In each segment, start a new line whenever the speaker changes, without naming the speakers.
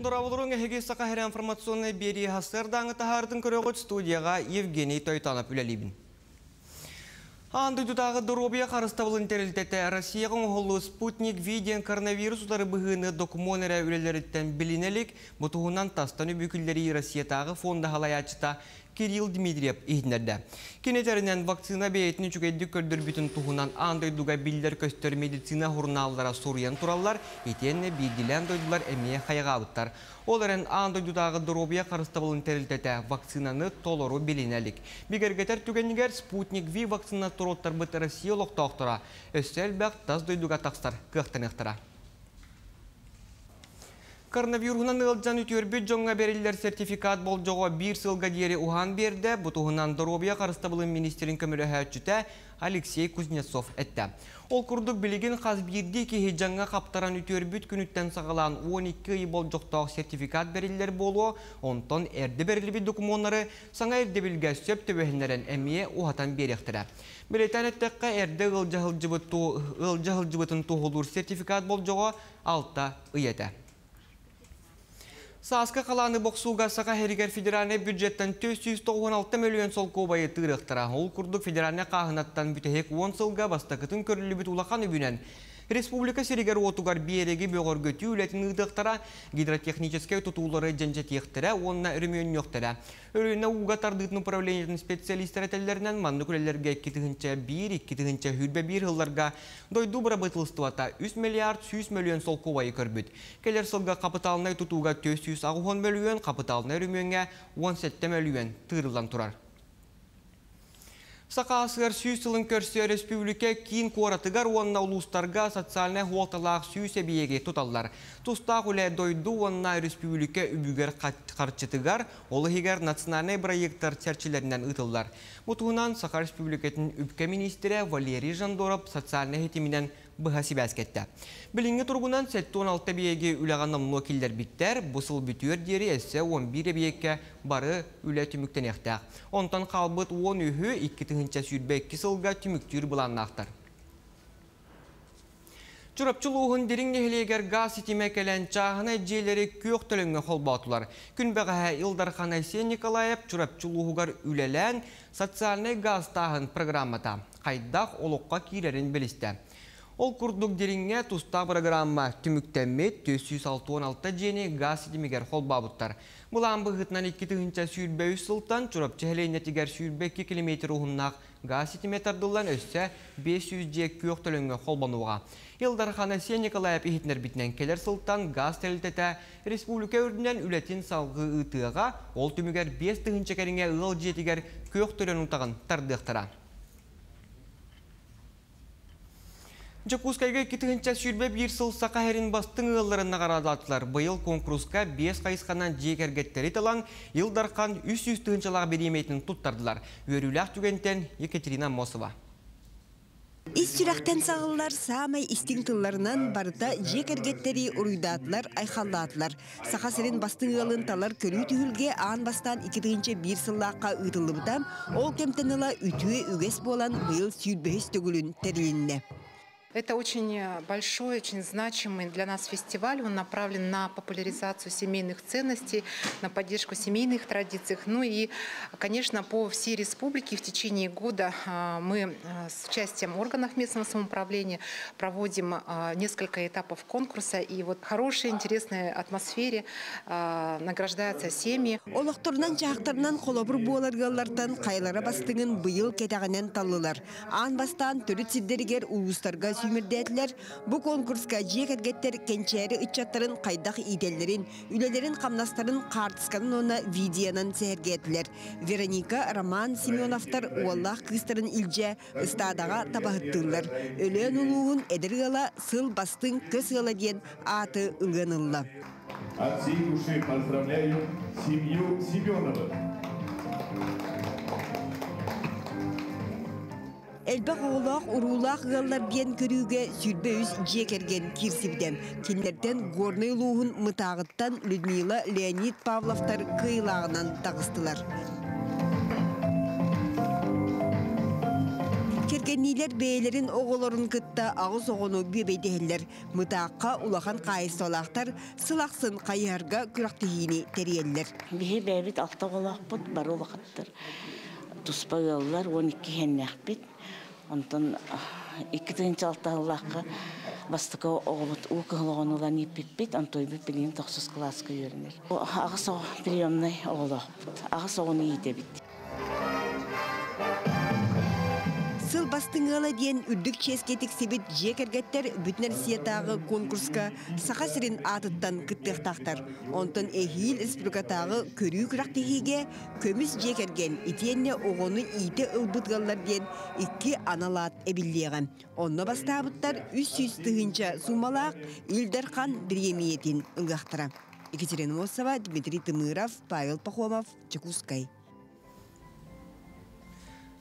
Дорооболоруҥ эһиги Саха сирэ информационнай биэрии сарсыардааҥы таһаарытын көрөҕүт студияҕа Евгений Тойтонов үлэлиибин. Аан дойдутааҕы доруобуйа харыстабылын тэрилтэтэ Россияҕа оҥоһуллубут Спутник V диэн коронавирус утары быһыыны докумуон эрэ үлэлэриттэн билинэ илик, бу туһунан тастан үбү киллэрии Россиятааҕы фонда салайааччыта Кирилл Дмитриев иһитиннэрдэ. Кини этэринэн, вакцина бэйэтин үчүгэйдик көрдөрбүтүн туһунан аан дойдуга биллэр-көстөр медицина сурунааллара суруйан тураллар, итиэннэ биирдиилээн дойдулар эмиэ хайҕаабыттар. Ол эрэн аан дойдутааҕы доруобуйа харыстабылын тэрилтэтэ вакцинаны толору билинэ илик. Бигэргэтэр түгэнигэр Спутник V вакцина туруоттарбыт Россия олохтоохторо өссө элбэх тас дойдуга тахсар кыахтаныахтара. Коронавируһунан ыалдьан үтүөрбүт дьоҥҥо бэриллэр сертификат болдьоҕо биир сылга диэри уһаан биэрдэ. Бу туһунан доруобуйа харыстабылын министрин көмөлөһөөччүтэ Алексей Кузнецов эттэ. Ол курдук билигин хас биирдии киһи дьаҥҥа хаптаран үтүөрбүт күнүттэн саҕалаан 12 ый болдьохтоох сертификат бэриллэр буолуо, онтон эрдэ бэриллибит докумуоннары саҥа ирдэбилгэ сөп түбэһиннэрэн эмиэ уһатан биэриэхтэрэ. Бэлиэтээн эттэххэ, эрдэ ыалдьа сылдьыбытын туоһулуур сертификат болдьоҕо 6 ый этэ. Сааскы халааны бохсууга Саха сиригэр федеральнай бюджеттан 496 мөлүйүөн солкуобайы тыырыахтара. Ол курдук федеральнай хааһынаттан бүтэһик 10 сылга бастакытын көрүллүбүт улахан үбүнэн республика сиригэр-уотугар биэрэги бөҕөргөтүү үлэтин ыытыахтара, гидротехническэй тутуулары дьэндьэтиэхтэрэ уонна өрөмүөннүөхтэрэ. Өлүөнэ ууга тардыытын управлениетын специалистара этэллэринэн, маннык үлэлэргэ 2001-2021 сылларга дойду бырабыыталыстыбата 3 миллиард 100 мөлүйүөн солкуобайы көрбүт. Кэлэр сылга хапытаалынай тутууга 480 мөлүйүөн, хапытаалынай өрөмүөҥҥэ 17 мөлүйүөн тыырыллан турар. Саха АССР 100 сылын көрсө өрөспүүбүлүкэ киин куоратыгар уонна улуустарга социальнай суолталаах 100 эбийиэги туталлар. Тустаах үлэ дойду уонна өрөспүүбүлүкэ үбүгэр харчытыгар, ол иһигэр национальнай бырайыактар чэрчилэринэн ыытыллар. Бу туһунан Саха Республикатын үпкэ миниистирэ Валерий Жандоров социальнай ситиминэн быһа сибээскэ эттэ. Билиҥҥи туругунан 76 эбийиэги үлэҕэ номнуо киллэрбиттэр, бу сыл бүтүөр диэри өссө 11 эбийиэккэ бары үлэ түмүктэниэхтээх. Онтон хаалбыт 13-ү 2022 сылга түмүктүүр былааннаахтар. Чурапчы улууһун Дириҥ нэһилиэгэр гаас ситимэ кэлэн чааһынай дьиэлэри күөх төлөҥҥө холбоотулар. Күн бэҕэһээ Ил Дархан Айсен Николаев Чурапчы улууһугар үлэлээн социальнай гаастааһын программата хайдах олоххо киирэрин билистэ. Ол курдук Дириҥҥэ тустаах программа түмүктэммит 466 дьиэни гаас ситимигэр холбообуттар. Былаан быһыытынан 2023 сылтан Чурапчы сэлиэнньэтигэр 22 километр уһуннаах гаас ситимэ тардыллан өссө 500 дьиэ күөх төлөҥҥө холбонуоҕа. Ил Дархан Айсен Николаев иһитиннэрбитинэн кэлэр сылтан гаас тэрилтэтэ республика үрдүнэн үлэтин салгыы ыытыаҕа, ол түмүгэр 5000 кэриҥэ ыал дьиэтигэр күөх төлөн утаҕын тардыахтара. Дьокуускайга 2021 сыл Саха сирин бастыҥ ыалларын наҕараадалаатылар. Быйыл куонкуруска 5 хайысханан дьиэ кэргэттэри талан, Ил Дархан 300 тыһыынчалаах бириэмийэтин туттардылар. Үөрүүлээх түгэнтэн Екатерина Аммосова.
Ис сүрэхтэн саҕыллар саамай истиҥ тылларынан барыта дьиэ кэргэттэри уруйдаатылар, айхаллаатылар. Саха сирин бастыҥ ыалын талар көрүү түһүлгэ аан бастаан 2001 сыллаахха ыытыллыбыта. Ол кэмтэн ыла үтүө үгэс буолан быйыл 25 төгүлүн тэрилиннэ.
Это очень большой, очень значимый для нас фестиваль. Он направлен на популяризацию семейных ценностей, на поддержку семейных традиций. Ну и, конечно, по всей республике в течение года мы с участием органов местного самоуправления проводим несколько этапов конкурса. И вот в хорошей, интересной атмосфере награждаются семьи.
Олохторунан-дьаһахтарынан холобур буолар ыаллартан хайалара бастыҥын быйыл кэтэҕинэн таллылар. Аан бастаан төрүт сирдэригэр улуустарга сүүмэрдээтилэр. Бу конкурска дьиэ кэргэттэр кэнчээри ыччаттарын хайдах иитэллэрин, үлэлэрин-хамнастарын хаартысканан уонна видеонан сэһэргээтилэр. Вероника, Роман Семеновтар уоллаах кыыстарын илдьэ ыстаадаҕа табаһыттыыллар. Өлөөн улууһун эдэр ыала сыл бастыҥ көс ыала диэн ааты ылыан ылла.
От всей души поздравляю семью Семеновых.
Элбэх оҕолоох уруулаах ыаллар диэн көрүүгэ 23 дьиэ кэргэн киирсибитэ. Кинилэртэн Горнай улууһун Мытааҕыттан Людмила, Леонид Павловтар кыайыылааҕынан таҕыстылар. Кэргэнниилэр бэйэлэрин оҕолорун кытта аҕыс оҕону бүөбэйдэһэллэр. Мытаахха улахан хаһаайыстыбалаахтар сыл ахсын хайыһарга күрэхтэһиини тэрийэллэр.
Биһи бэйэбит алта оҕолоохпут, бары улахаттар. Туспа ыаллар, 12 иһэннээхпит. Онтон 2006 сыллаахха бастакы оҕобут уу кыһыл оҕону ылан ииппиппит, онтуйбут билигин тохсус кылааска үөрэнэр. Аҕыс оҕо приемнай оҕолоохпут, аҕыс оҕону иитэбит.
Сыл бастыҥ ыала диэн үрдүк чиэскэ тиксибит дьиэ кэргэттэр Бүтүн Россиятааҕы конкурска Саха сирин аатыттан кыттыахтаахтар. Онтон эһиил республикатааҕы көрүү күрэхтэһиигэ көмүс дьиэ кэргэн итиэннэ оҕону иитэ ылбыт ыаллар диэн икки анал аат эбиллиэҕэ. Онно бастаабыттар 300 тыһыынча суумалаах Ил Дархан бириэмийэтин ылыахтара. Екатерина Мосова, Дмитрий Тымыров, Павел Пахомов, Дьокуускай.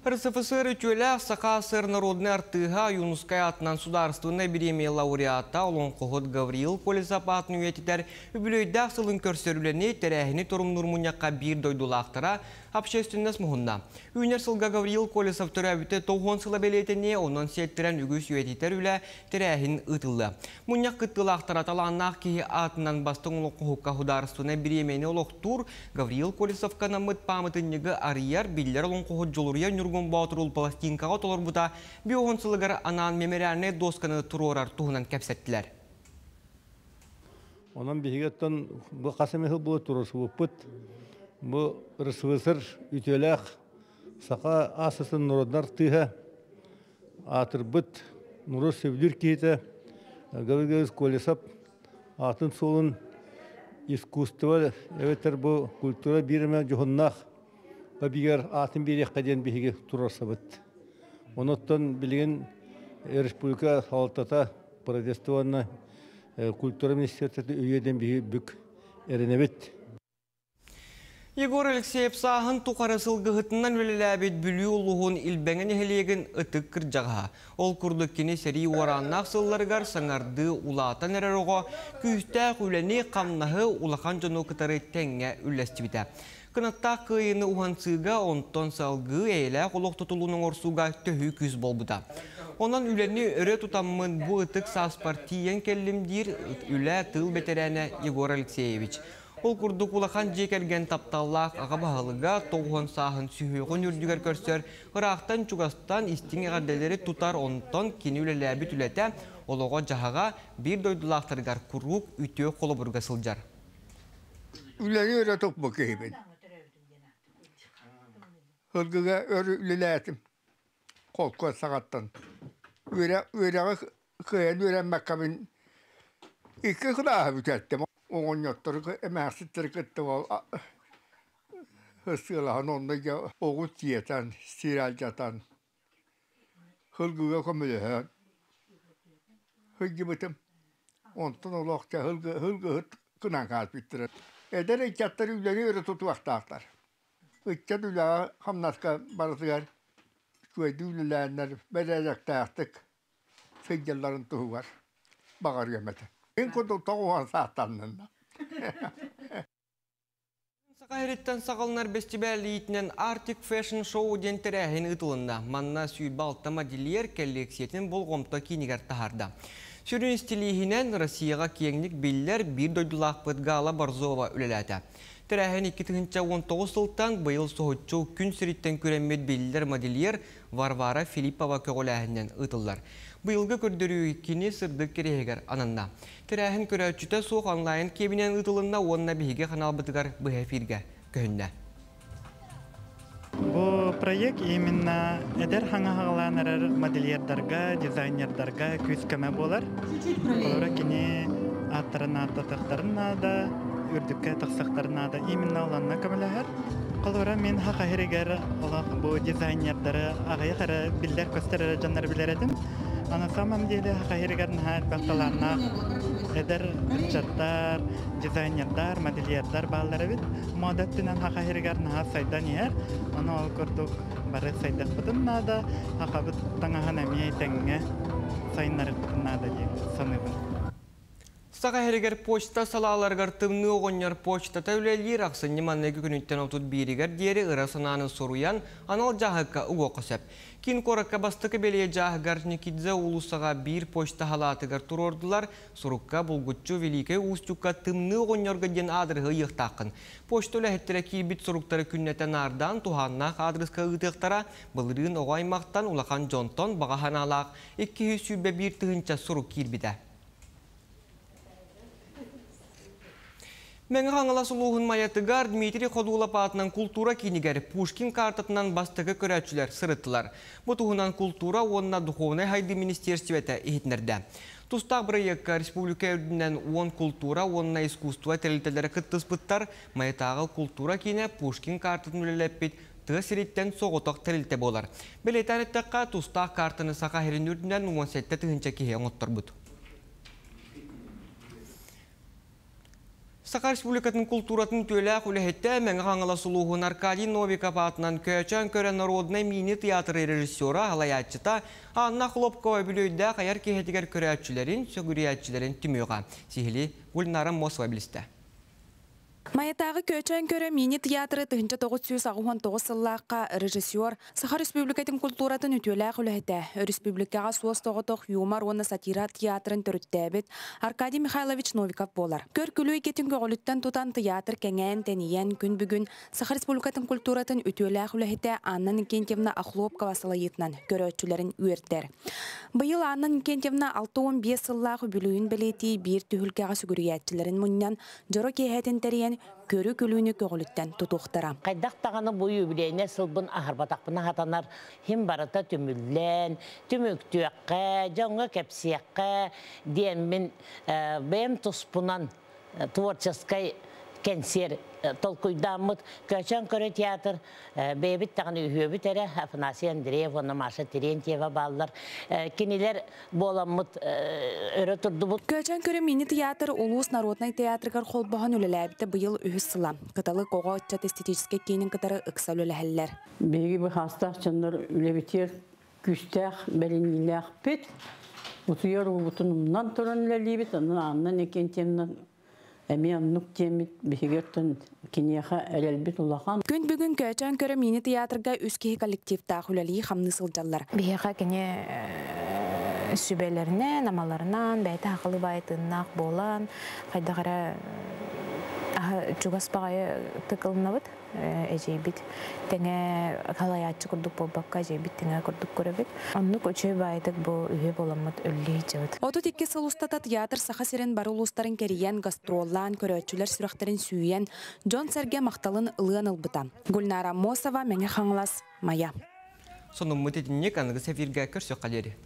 РСФСР үтүөлээх Саха АССР народнай артыыһа, Ойуунускай аатынан судаарыстыбаннай бириэмийэ лауреата, олоҥхоһут Гавриил Колесов аатын үйэтитэр үбүлүөйдээх сылын көрсөр үлэни, тэрээһини торумнуур мунньахха биир дойдулаахтара, общественность муһунна. Үүнэр сылга Гавриил Колесов төрөөбүтэ 90 сыла бэлиэтэниэ, онон сиэттэрэн үгүс үйэтитэр үлэ, тэрээһин ыытыллыа. Мунньах кыттыылаахтара талааннаах киһи аатынан бастыҥ олоҥхоһукка судаарыстыбаннай бириэмийэни олохтуур, Гавриил Колесовка анаммыт пааматынньыгы арыйар, биллэр олоҥхоһут Дьулуруйар Ньургун Боотуру пластинкаҕа толорбута 50 сылыгар анаан мемориальнай досканы туруорар туһунан кэпсэттилэр.
Онон биһигиттэн бу хас эмэ сыл буолан туруорсубуппут. Бу РСФСР үтүөлээх Саха АССР норуодунай артыыһа, аатырбыт норуот сөбүлүүр киһитэ Гаврил Колесов аатын суолун искусство эбэтэр бу культура биир эмэ дьоһуннаах бабигар аатын биэриэххэ диэн биһиги туруорсабыт. Онуттан билигин республика салалтата, правительство культура министерствота өйүө диэн биһиги бүк эрэнэбит.
Егор Алексеев сааһын тухары сылгыһытынан үлэлээбит Бүлүү улууһун Илбэҥэ нэһилиэгин ытык кырдьаҕаһа. Ол курдук кини сэрии уорааннаах сылларыгар саҥардыы улаатан эрэр оҕо күүстээх үлэни, хамнаһы улахан дьону кытары тэҥҥэ үллэстибитэ. Кынаттаах кыайыыны уһансыыга, онтон салгыы эйэлээх олох тутулун оҥорсууга төһүү күүс буолбута. Онон үлэни өрө тутаммын бу ытык сааспар тиийэн кэллим диир үлэ тыыл бэтэрээнэ Егор Алексеевич. Ол курдук улахан дьиэ кэргэн тапталлаах аҕа баһылыга 90 сааһын сүһүөҕүн үрдүгэр көрсөр, ыраахтан чугастан истиҥ эҕэрдэлэри тутар, онтон кини үлэлээбит үлэтэ, олоҕо дьаһаҕа биир дойдулаахтарыгар куруук үтүө холобурга сылдьар.
Үлэни өрө туппут киһибин. Сылгыга өр үлэлээтим. Холкуос саҕаттан. Үөрэҕи кыайан үөрэммэккэбин икки кылааһы бүтэртим. Оҕонньоттору эмээхситтэри кытта ол сыалаһан онно дьэ оҕус сиэтэн, сир алдьатан, сылгыга көмөлөһөн сылдьыбытым. Онтон олох дьэ сылгыһыт гынан хаалбыттара. Эдэр ыччаттар үлэни өрө тутуохтаахтар. Ыччат үлэҕэ хамнаска барытыгар үчүгэйдик үлэлээннэр бэрээдэктээхтик сылдьалларын туһугар баҕарыам этэ. Мин курдук 90 саастаннынна.
Саха сириттэн саҕаланар бэстибээл иитинэн Arctic Fashion Show диэн тэрээһин ыытылынна. Манна 26 модельер коллекциятын болҕомто киинигэр таһаарда. Сүрүн истилииһинэн Россияҕа киэҥник биллэр биир дойдулаахпыт Гала Борзова үлэлээтэ. Тэрээһин 2019 сылтан быйыл соһуччу күн сириттэн күрэммит биллэр модельер Варвара Филиппова көҕүлээһининэн ыытыллар. Быйылгы көрдөрүү кини сырдык кэриэһигэр ананна. Тэрээһин көрөөччүтэ суох онлайн киэбинэн ыытылынна уонна биһиги ханаалбытыгар быһа эфиргэ көһүннэ.
Бу проект именно эдэр хаҥа хаҕалаан эрэр модельердарга, дизайнердарга күүс көмө буолар. Олора кини ааттарын ааттатыахтарын наада, үрдүккэ тахсыахтарын наада. Именно оланна көмөлөһөр. Холобура мин Саха сиригэр олох бу дизайнердары аҕыйах эрэ биллэр көстөр эрэ дьоннору билэр этим. А на самом деле Саха сиригэр наһаа элбэх талааннаах эдэр ыччаттар, дизайнердар, модельердар бааллар эбит. Мода өттүнэн Саха сиригэр наһаа сайдан иһэр. Ону ол курдук бары сайдыахпытын наада, сахабыт таҥаһын эмиэ тэҥҥэ сайыннарыахпытын наада диэн саныыбын.
Саха сиригэр почта салааларыгар Тымныы оҕонньор почтата үлэлиир. Ахсынньы маҥнайгы күнүттэн 31-гэр диэри ыра санааны суруйан, анал дьааһыкка угуохха сөп. Киин куоракка бастакы бэлиэ дьааһыгы Орджоникидзе уулуссаҕа биир почта салаатыгар туруордулар. Сурукка булгуччу Великэй Устюгка Тымныы оҕонньорго диэн аадырыһы ыйыахтааххын. Почта үлэһиттэрэ киирбит суруктары күннэтэ наардаан туһааннаах аадырыска ыытыахтара. Былырыын оҕо аймахтан, улахан дьонтон баҕа санаалаах 221 тыһыынча сурук киирбитэ. Мэҥэ Хаҥалас улууһун Майатыгар Дмитрий Ходулов аатынан култуура киинигэр Пушкин картатынан бастакы көрөөччүлэр сырыттылар. Бу туһунан култуура уонна духовнай сайдыы министиэристибэтэ иһитиннэрдэ. Тустаах бырайыакка республика үрдүнэн 10 култуура уонна искусство тэрилтэлэрэ кыттыспыттар. Майатааҕы култуура киинэ Пушкин картатын үлэлэппит тыа сириттэн соҕотох тэрилтэ буолар. Бэлиэтээн эттэххэ, тустаах картаны Саха сирин үрдүнэн 17 тыһыынча киһи оҥотторбут. Саха Республикатын култууратын үтүөлээх үлэһитэ, Мэҥэ Хаҥалас улууһун Аркадий Новиков аатынан Көөчөөн көрө народнай мини-театр режиссера, салайааччыта Анна Охлопкова үбүлүөйдээх айар киэһэтигэр көрөөччүлэрин, сүгүрүйээччилэрин түмүөҕэ. Сиһилии Гульнара Мосова билистэ.
Майатааҕы Көөчөөн көрө мини театры 1989 сыллаахха режиссер, Саха Республикатын култууратын үтүөлээх үлэһитэ, республикаҕа суос-соҕотох юмор уонна сатира театрын төрүттээбит Аркадий Михайлович Новиков буолар. Көр күлүү эйгэтин көҕүлүттэн тутан театр кэҥээн, тэнийэн, күн бүгүн Саха Республикатын култууратын үтүөлээх үлэһитэ Анна Иннокентьевна Охлопкова салайыытынан көрөөччүлэрин үөрдэр. Быйыл Анна Иннокентьевна 65 сыллаах үбүлүөйүн бэлиэтии биир түһүлгэҕэ сүгүрүйээччилэрин мунньан, дьоро киэһэтин тэрийэн, көрү күлүүнү көҕүлүттэн тутуохтара.
Хайдах даҕаны бу юбилейнай сылбын аһарбатахпына сатанар, хим барыта түмүллэн, түмүктүөххэ, дьоҥҥо кэпсиэххэ диэммин бэйэм туспунан творческай кэнсиэр толкуйдааммыт Көөчөөн көрө театр бэйэбит даҕаны үһүөбүт эрэ, Афанасий Андреев уонна Маша Терентьева бааллар. Кинилэр буоламмыт өрө турдубут.
Көөчөөн көрө мини театр улуус народнай театрыгар холбоһон үлэлээбитэ быйыл үһүс сыла. Кыталык оҕо ыччат эстетическэй киинин кытары ыкса үлэлэһэллэр.
Биһиги бу саастаах дьоннор үлэбитигэр күүстээх бэриниилээхпит. Утуйар уубутун умнан туран үлэлиибит, онон Анна Иннокентьевна эмиэ оннук диэммит биһиги оттон киниэхэ эрэлбит улахан.
Күн бүгүн Көөчөөн көрө мини театрга үс киһи коллективтаах үлэлии хамныы сылдьаллар.
Биһиэхэ кини сүбэлэринэн, амаларынан, бэйэтэ сахалыы баай тыыннаах буолан, хайдах эрэ чугас баҕайы тыкылынабыт эдьиийбит тэҥэ халайааччы курдук буолбакка эдьиийбит тэҥэ курдук көрөбүт. Оннук үчүгэй баайдык бу үһүө буоламмыт үлэлии сылдьабыт.
32 сыл устата театр Саха сирин бары улуустарын кэрийэн, гастроллаан, көрөөччүлэр сүрэхтэрин сүүйэн, дьон-сэргэ махталын ылыан ылбыта. Гульнара Мосова, Мэҥэ Хаҥалас, Майа.
Сонуммут итинник, аныгыс эфиргэ көрсүөххэ диэри.